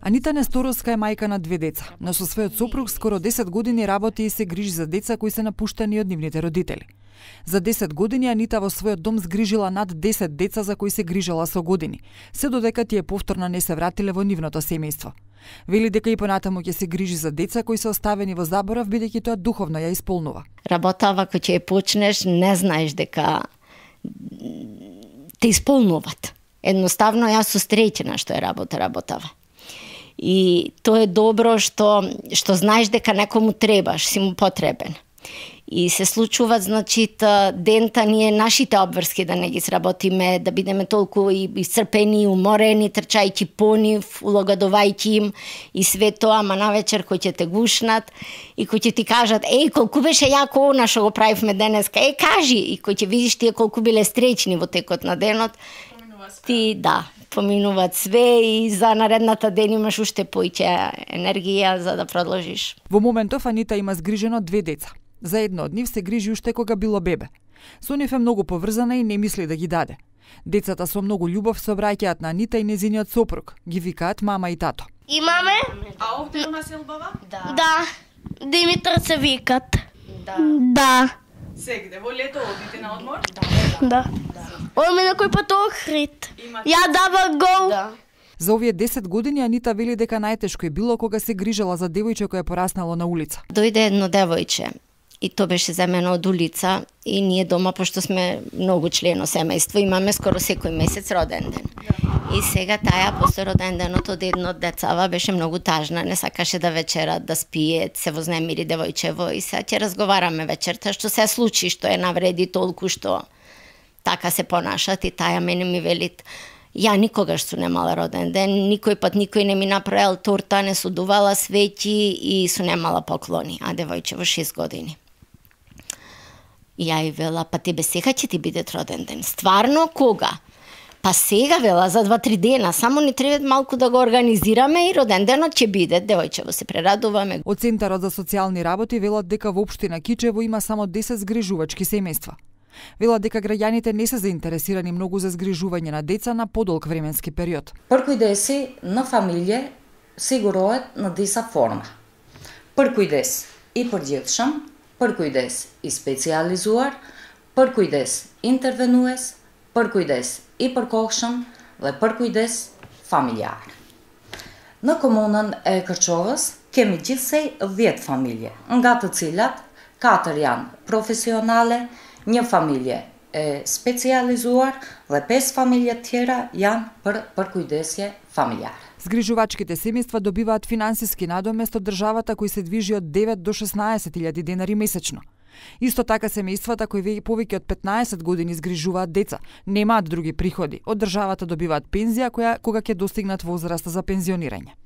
Анита Несторовска е мајка на 2 деца, но со својот сопруг скоро 10 години работи и се грижи за деца кои се напуштани од нивните родители. За 10 години Анита во својот дом згрижила над 10 деца за кои се грижала со години, се додека тие повторно не се вратиле во нивното семејство. Вели дека и понатаму ќе се грижи за деца кои се оставени во заборав, бидејќи тоа духовно ја исполнува. Работава кога ќе ја почнеш, не знаеш дека те исполнуват. Едноставно јас сум среќена што е работава. И тоа е добро што знаеш дека некому требаш, си му потребен. И се случуваат, значи, дента ние нашите обврски да не ги сработиме, да бидеме толку и исцрпени, уморени, трчајќи по нив, улагадувајќи им и све тоа, ама навечер кој ќе те гушнат и кој ќе ти кажат, колку беше јако она што го правивме денеска, кажи, и кој ќе видиш тие колку биле среќни во текот на денот, ти, поминуваат све и за наредната ден имаш уште поиќе енергија за да продолжиш. Во моментов Анита има згрижено 2 деца. За едно од нив се грижи уште кога било бебе. Со нив е многу поврзана и не мисли да ги даде. Децата со многу љубов се обраќаат на Анита и нејзиниот сопруг. Ги викаат мама и тато. Имаме? А овде у нас е убава? Да. Димитар се викат. Да. Сегде во лето одите на одмор? Да. Оме на кој пат Охрид. Ја дава гол. За овие 10 години Анита вели дека најтешко е било кога се грижела за девојче кое пораснало на улица. Дојде едно девојче и то беше земено од улица и ние дома, пошто сме многу члено семејство, имаме скоро секој месец роден ден. И сега таја после роден денот од едно од децава беше многу тажна, не сакаше да вечера, да спие, се вознемири девојчево и сега ќе разговараме вечерта што се случи, што е навреди толку што така се понашат и таја мене ми велит: ја никогаш су немала роден ден, никој пат никој не ми направил торта, не судувала свеќи и су немала поклони, а девојче во 6 години. И ја и вела, па тебе сега ќе ти биде роден ден. Стварно, кога? Па сега, вела, за 2-3 дена, само ни треба малку да го организираме и роден денот ќе биде, девојчево се прерадуваме. Од Центарот за социјални работи велат дека во општина Кичево има само 10 згрижувачки семејства. Велат дека граѓаните не се заинтересирани многу за згрижување на деца на подолг временски период. Përkujdesi në familje sigurohet në disa forma. Përkujdes i përgjithshëm, përkujdes i specializuar, përkujdes intervenues, përkujdes i përkohshëm dhe përkujdes familjar. Në komunën e Kërçovës kemi gjithsej 10 familje, nga të cilat 4 janë profesionale, një familje e specializuar dhe 5 familje tjera janë për përkujdesje familjare. Згрижувачките семејства добиваат финансиски надомест од државата кој се движи од 9 до 16.000 денари месечно. Исто така семејствата кои повеќе од 15 години згрижуваат деца, немаат други приходи. Од државата добиваат пензија кога ќе достигнат возраста за пензионирање.